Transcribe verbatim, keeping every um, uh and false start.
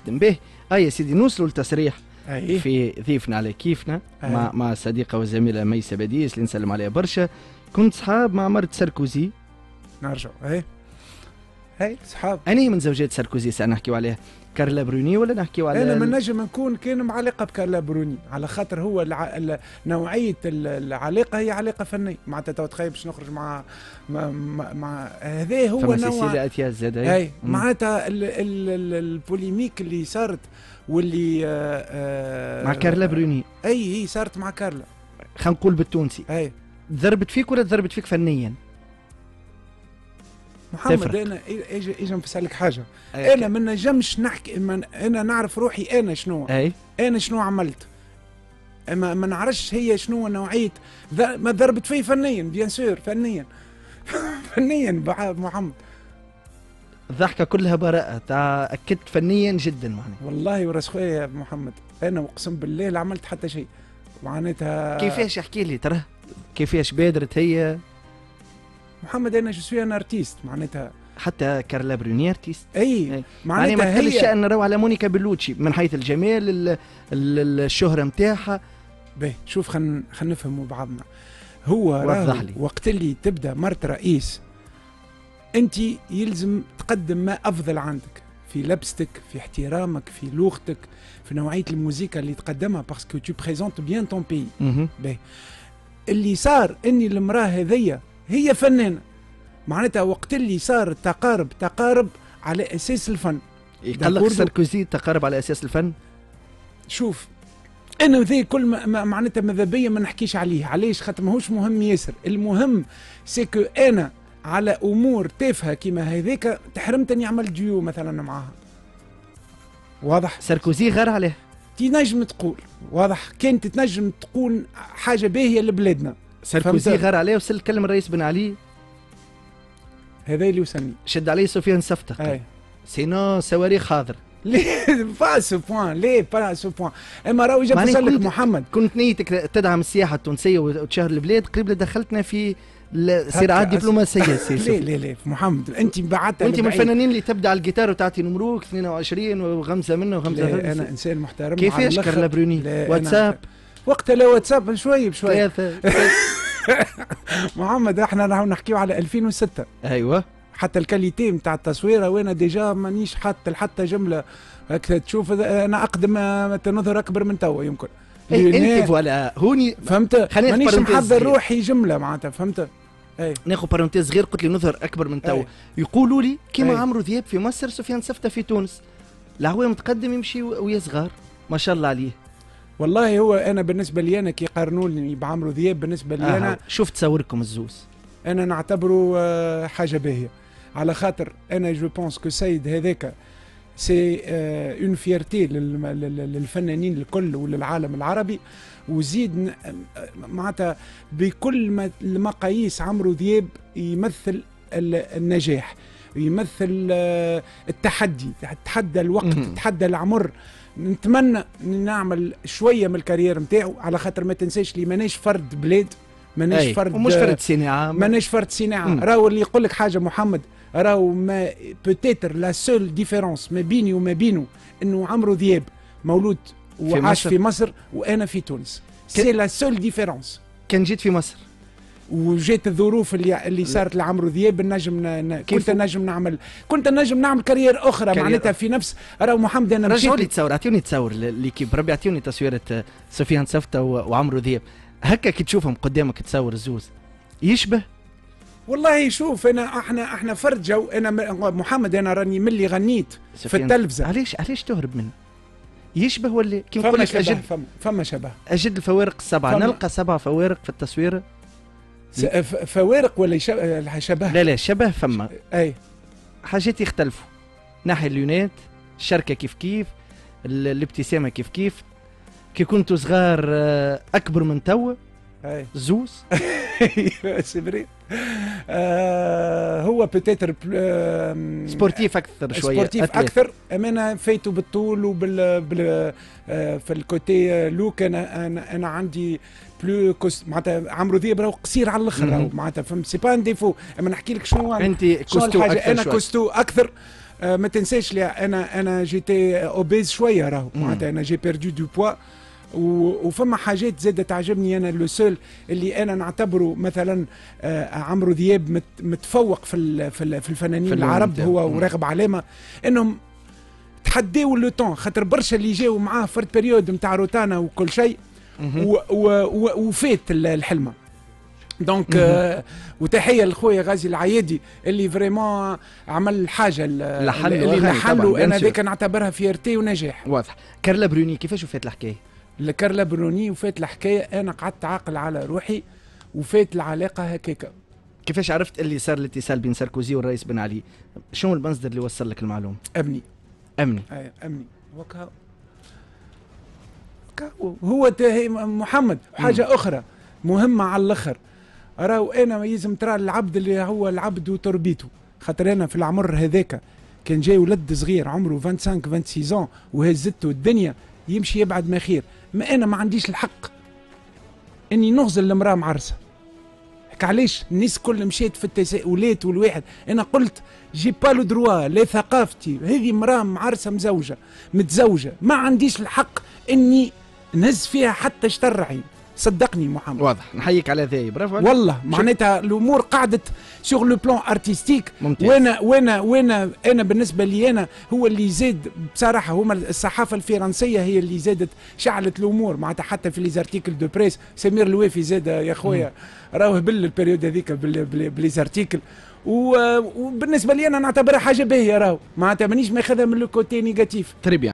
تخدم به. اي يا سيدي، نوصلوا لتصريح أيه. في ضيفنا على كيفنا أيه. مع مع الصديقة والزميله ميسة باديس اللي نسلم عليها برشا. كنت صحاب مع مرت ساركوزي. نرجع اي هاي صحاب. أني من زوجات ساركوزي سنحكيو عليها، كارلا بروني ولا نحكيو على انا ما نجم نكون كان معلقه بكارلا بروني، على خاطر هو الع... ال... نوعية العلاقة هي علاقة فنية. معناتها تو تخيل باش نخرج مع مع, مع... هذا هو نوع سيسيليا زاد. اي معناتها ال... ال... ال... ال polémique اللي صارت واللي آه... مع كارلا بروني. اي هي صارت مع كارلا. خلينا نقول بالتونسي. اي ضربت فيك ولا ضربت فيك فنيا؟ محمد تفرق. انا اجي اجي نسالك حاجة. أي انا ما نجمش نحكي من انا نعرف روحي انا شنو. أي. انا شنو عملت، ما, ما نعرفش هي شنو نوعية. ما ضربت فيه فنيا، bien sûr فنيا. فنيا محمد. الضحكة كلها براءه، تاكدت فنيا جدا معناها. والله وراس خويا يا محمد، انا اقسم بالله لا عملت حتى شيء معناتها. كيفاش احكي لي ترى كيفاش بادرت هي؟ محمد انا je suis un artiste معناتها. حتى كارلا بروني artiste. اي معناتها ما تقلش الشأن راهو على مونيكا بلوتشي من حيث الجمال ال ال الشهرة نتاعها. باهي شوف خلينا خلينا نفهموا بعضنا. هو وضح لي وقت اللي تبدا مرت رئيس انت يلزم تقدم ما افضل عندك في لبستك، في احترامك، في لغتك، في نوعية الموسيقى اللي تقدمها، parce que tu présentes bien ton pays. باهي اللي صار اني المراة هذيا هي فنانة، معناتها وقت اللي صار التقارب تقارب على اساس الفن. يقلق ساركوزي تقارب على اساس الفن؟ شوف انا ذي كل ما معناتها ماذا بيا ما نحكيش عليه، علاش؟ خاطر ماهوش مهم ياسر. المهم c'est que انا على امور تافهة كيما هذيك تحرمت اني عملت ديو مثلا معاها. واضح؟ ساركوزي غير عليه. تنجم تقول واضح، كانت تنجم تقول حاجة باهيه لبلادنا. ساركوزي غار عليه وصل كلم الرئيس بن علي. هذا اللي وصلني. شد عليه سفيان سفتة. sinon صواريخ حاضر. ليه pas à ce point، ليه pas à ce point. اما راهو جاب لك محمد. كنت نيتك تدعم السياحة التونسية وتشهر البلاد، قريب دخلتنا في الصراعات الدبلوماسية. ليه ليه ليه محمد انت بعدت. انت من الفنانين اللي تبدا على الجيتار وتعطي نمروك اثنين وعشرين وغمزه منه وغمزه منه. انا انسان محترم. كيفاش كارلا بروني؟ واتساب وقتها؟ لا واتساب شوي بشوي. محمد احنا راهو نحكيو على ألفين وستة. ايوه حتى ال qualité نتاع التصويره وانا déjà مانيش حاط حتى جملة هكذا تشوف. انا اقدم نظهر اكبر من توا يمكن. إيه انت voilà هوني فهمت، مانيش محضر روحي جملة معناتها فهمت. اي ناخذ parenthèse صغير، قلت لي نظهر اكبر من توا. يقولوا لي كيما عمرو ذياب في مصر، سفيان سفته في تونس، العوام متقدم يمشي ويا صغار ما شاء الله عليه. والله هو انا بالنسبة لي انا كي قارنوني بعمرو ذياب بالنسبة لي انا آه. شفت تصوركم الزوز انا نعتبره حاجة باهيه، على خاطر انا je pense que سيد هذاك c'est une fierté للفنانين الكل وللعالم العربي. وزيد معناتها بكل المقاييس عمرو ذياب يمثل النجاح، يمثل التحدي، تحدى الوقت، تحدى العمر. نتمنى نعمل شوية من ال carrière نتاعو، على خاطر ما تنساش لي ماناش فرد بلاد، ماناش فرد ومش فرد صناعة، ماناش فرد صناعة. راهو اللي يقول لك حاجة محمد، راهو ما peut-être la seule différence ما بيني وما بينه انه عمرو ذياب مولود وعاش في مصر وانا في تونس. c'est la seule différence. كان جيت في مصر وجات الظروف اللي اللي صارت لعمرو ذياب نجم ن... كنت نجم نعمل كنت نجم نعمل carrière اخرى معناتها في نفس. راهو محمد انا رجعوا لي تصور، اعطيوني تصور l'équipe ربي، اعطيوني تصويره سفيان سفته وعمرو ذياب هكا كي تشوفهم قدامك تصور الزوز يشبه. والله شوف انا احنا احنا فرد جو. انا محمد انا راني ملي غنيت في التلفزة. علاش علاش تهرب منه؟ يشبه ولا كي نقول لك اجد فما, فما شبه، اجد الفوارق السبعة، نلقى سبع فوارق في التصويره. فوارق ولا شبه؟ لا لا شبه فما. اي حاجات يختلفوا، ناحية ال lunettes، الشركة كيف كيف، الابتسامة كيف كيف. كي كنتوا صغار اكبر من توا زوز. c'est vrai. آه هو peut-être آه sportif اكثر شوية، sportif اكثر. اما انا فايته بالطول وبال بال آه في ال côté look. انا انا, أنا عندي plus costaud معناتها. عمرو ذياب راهو قصير على الاخر معناتها فهمت، c'est pas un défaut. اما نحكي لك شنو انت costaud اكثر، انا costaud اكثر. آه ما تنساش لي انا انا j'étais obèse شوية راهو، معناتها انا j'ai perdu du poids. وفما حاجات زادة تعجبني انا، le seul اللي انا نعتبره مثلا آه عمرو دياب متفوق في في الفنانين في العرب هو وراغب علامه، انهم تحداو le temps، خاطر برشا اللي جاوا معاه فرد période نتاع روتانا وكل شيء وفات الحلمه. donc آه وتحية لخويا غازي العيادي اللي vraiment عمل حاجة اللي لحن، انا هذاك نعتبرها fierté ونجاح. واضح. كارلا بروني كيفاش وفات الحكاية؟ كارلا بروني وفات الحكايه، انا قعدت عاقل على روحي وفات العلاقة هكاكا. كيفاش عرفت اللي صار الاتصال بين ساركوزي والرئيس بن علي؟ شنو المصدر اللي وصل لك المعلومة؟ امني. امني. اي امني وكا هو محمد. حاجة مم. اخرى مهمة على الاخر، راهو انا يلزم ترى العبد اللي هو العبد وتربيته، خاطر انا في العمر هذاك كان جاي ولد صغير عمره خمسة وعشرين ستة وعشرين وهزته الدنيا يمشي يبعد ما خير. ما انا ما عنديش الحق اني نغزل المراة معرسه. علاش الناس كل مشيت في التساؤلات والواحد، انا قلت j'ai pas le droit، لا ثقافتي هذه، مراة معرسه مزوجه متزوجه، ما عنديش الحق اني نهز فيها حتى شطر عين، صدقني محمد. واضح، نحييك على ذي، برافو. والله معناتها الامور قعدت sur le plan artistique. وانا وانا وانا انا بالنسبة لي انا هو اللي زاد بصراحة هما الصحافة الفرنسيه، هي اللي زادت شعلت الامور، معناتها حتى في les articles de presse سمير الوافي زاد يا خويا راهو هبل ال période هذيك ب les articles. وبالنسبة لي انا نعتبرها حاجة باهيه راهو، معناتها مانيش ماخذها من le côté négatif. très bien.